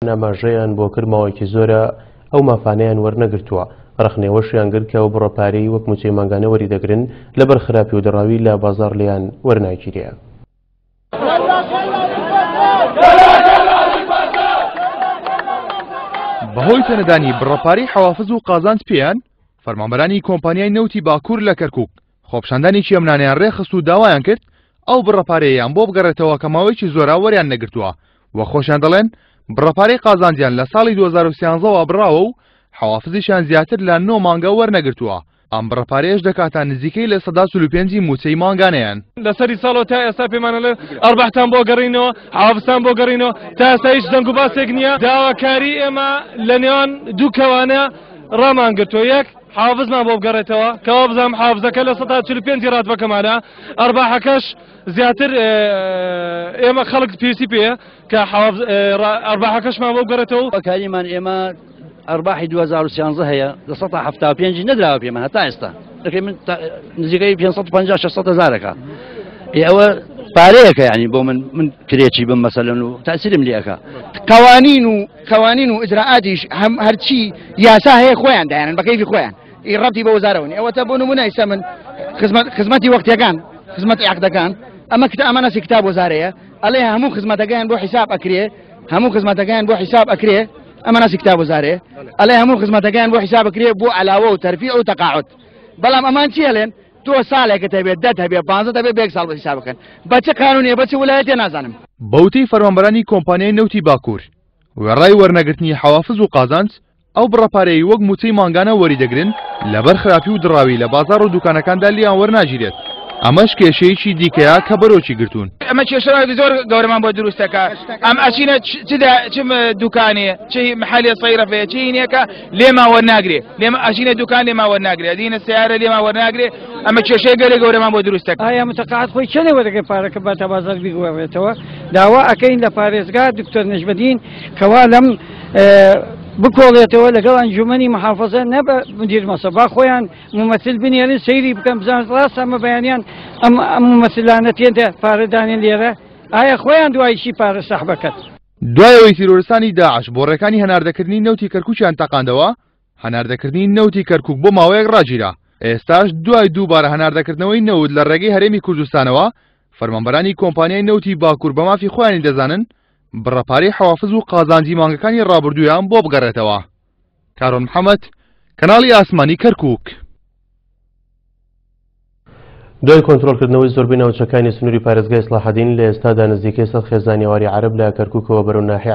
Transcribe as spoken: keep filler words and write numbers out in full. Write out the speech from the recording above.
ئاماژەیان بۆ کرد ماوەیەکی زۆرە ئەو مافانەیان وەرنەگرتووە. ڕەخنەوەشیان گرت کە ئەو بڕە پارەی وەک مووچەی مانگانە وەری دەگرن لەبەر خراپی و دڕاوی لە بازاڕ لێیان وەرناگیرێ. بەهۆی پێنەدانی بڕەپارەی حەوافز و قازانج پێیان، فەرمانبەرانی کۆمپانیای نەوتی باکوور لە کەرکوک خۆپیشاندانێکی ئەمنانیان ڕێخست و داوایان کرد ئەو بڕەپارەیەیان بۆ بگەڕێتەوە کە ماوەیەکی زۆرە وەریان نەگرتووە و خۆشیان دەڵێن بڕەپارەی قازانجیان لە ساڵی دوو هەزار و سیانزەوە بڕاوە و حەوافزیشیان زیاتر لە نۆ مانگە وەرنەگرتووە. ئەم بڕەپارەیەش دەکاتە نزیکەی لە سەدا چل و پێنجی مووچەی مانگانەیان. لەسەری ساڵەوە تا ئێستا پێمانە لە ئەرباحتان بۆ گەڕینەوە، حەوافزتان بۆ گەڕینەوە، تا ئێستا هیچ دەنگ و باسێک نییە. داواکاری ئێمە لە نێوان دوو کەوانە ڕامان گرتووە، یەک حافزمان بۆ بگەڕێتەوە کەوا بزانم حافزەکە لە سەدا چل و پێنجی ڕاتبەکەمانە، ئەرباحەکەش زیاتر ئێمە خەڵک پێویستی پێیە کە ئەرباحەکەشمان بۆ بگەڕێتەوە. کاریمان ئێمە ئەرباحی دوو هەزار و سیانزە هەیە لە سەدا حەفتا و پێنجی نەدراوە پێمان هەتا ئێستا، دەکەی من نزیکەی پێنج سەد و پەنجا شەش سەد هەزارەکە. ئێ ئەوە پارەیەکە یعنی بۆ من من کرێچی بم مەسەلەن و تاسیرم لێ ئەکا. قوانین و قوانین و ئیجرائاتیش هەم هەرچی یاسا هەیە خۆیان دایانن بە کەیفی خۆیان، ئی ڕەبتی بە وەزارەوە نییە. ئەوەتە بۆ نمونە ئێستا من خزمەت خزمەتی وەختیەکان، خزمەتی عەقدەکان، ئەمە کتاب ئەمە نەسی کتاب وەزارەیە، ئەڵێ هەموو خزمەتەکەیان بۆ حیساب ئەکرێ، هەموو خزمەتەکەیان بۆ حیساب ئەکرێ، ئەمە ناسی کتاب وەزارەیە، ئەڵێ هەموو خزمەتەکەیان بۆ حیساب ئەکرێ بۆ عەلاوە و تەرفیع و تەقاعد. بەڵام ئەمان چی ئەڵێن؟ تۆ ساڵێکت هەبێت، دەت هەبێت، پانزەت هەبێت، بە یەک ساڵ بۆ حیساب بکەن. بە چه قانونیە، بە چه ویلایەتێ نازانم. بەوتەی فەرمانبەرانی کۆمپانیای نەوتی باکوور، وێڕای وەرنەگرتنی حەوافز و قازانج، ئەو بڕەپارەیەی وەک مووچەی مانگانە وەری دەگرن لەبەر خراپی و دڕاوی لە بازاڕ و دوکانەکاندا لیان وەرناگیرێت. ئەمەش کێشەیەکی دیکەیە کە بەرۆکی گرتوون. ئەمە کێشەیەکی زۆر گەورەمان بۆ دروستەکە. ئەم ئەچینە چ دوکانێ، چ محلێ سەیرەفەیە، چ هینێکە لێمان وەرناگرێ، لێمە ئەچینە دوکان لێمان وەرناگرێ، ئەدینە سیارە لێمان وەرناگرێ. ئەمە کێشەی گەلێ گەورەمان بۆ دروستەکە. ئایا متەقاعد خۆی چەندێ وەرەگرێ پارەکە باتە بازار بیگۆڕێتەوە؟ داوا ئەکەین لە پارێزگا دکتۆر نەجمەدین کەوا لەم بکۆڵێتەوە لەگەڵ ئەنجومەنی محافظە نەبە مدیر مەسە، با خۆیان ممەثل بنێرن سەیری بکەن بزانن ڕاستە ئەمە بەیانیان ئەم ئەم ممەثلانە تێندە پارەدانێن لێرە، ئایا خۆیان دوای چی پارە سەحبەکەت؟ دوای ئەوەی تیرۆرستانی داعش بۆ ڕێکانی هەناردەکردنی نەوتی کەرکووکیان تەقاندەوە، هەناردەکردنی نەوتی کەرکووک بۆ ماوەیەک ڕاگیرا. ئێستاش دوای دووبارە هەناردەکردنەوەی نەوت لە ڕێگەی هەرێمی کوردستانەوە، فەرمانبەرانی کۆمپانیای نەوتی باکوور بە مافی خۆیانی دەزانن بڕەپارەی حەوافز و قازانجی مانگەکانی ڕابردوویان بۆ بگەڕێتەوە. کارۆن محەممەد، کەناڵی ئاسمانی کەرکووک. دوای کۆنترۆڵکردنەوەی زۆربەی ناوچەکانی سنووری پارێزگای سەلاحەدین، لە ئێستادا نزیکەی سەد خێزانی ئاواری عەرەب لە کەرکووکەوە بەرەو ناحیە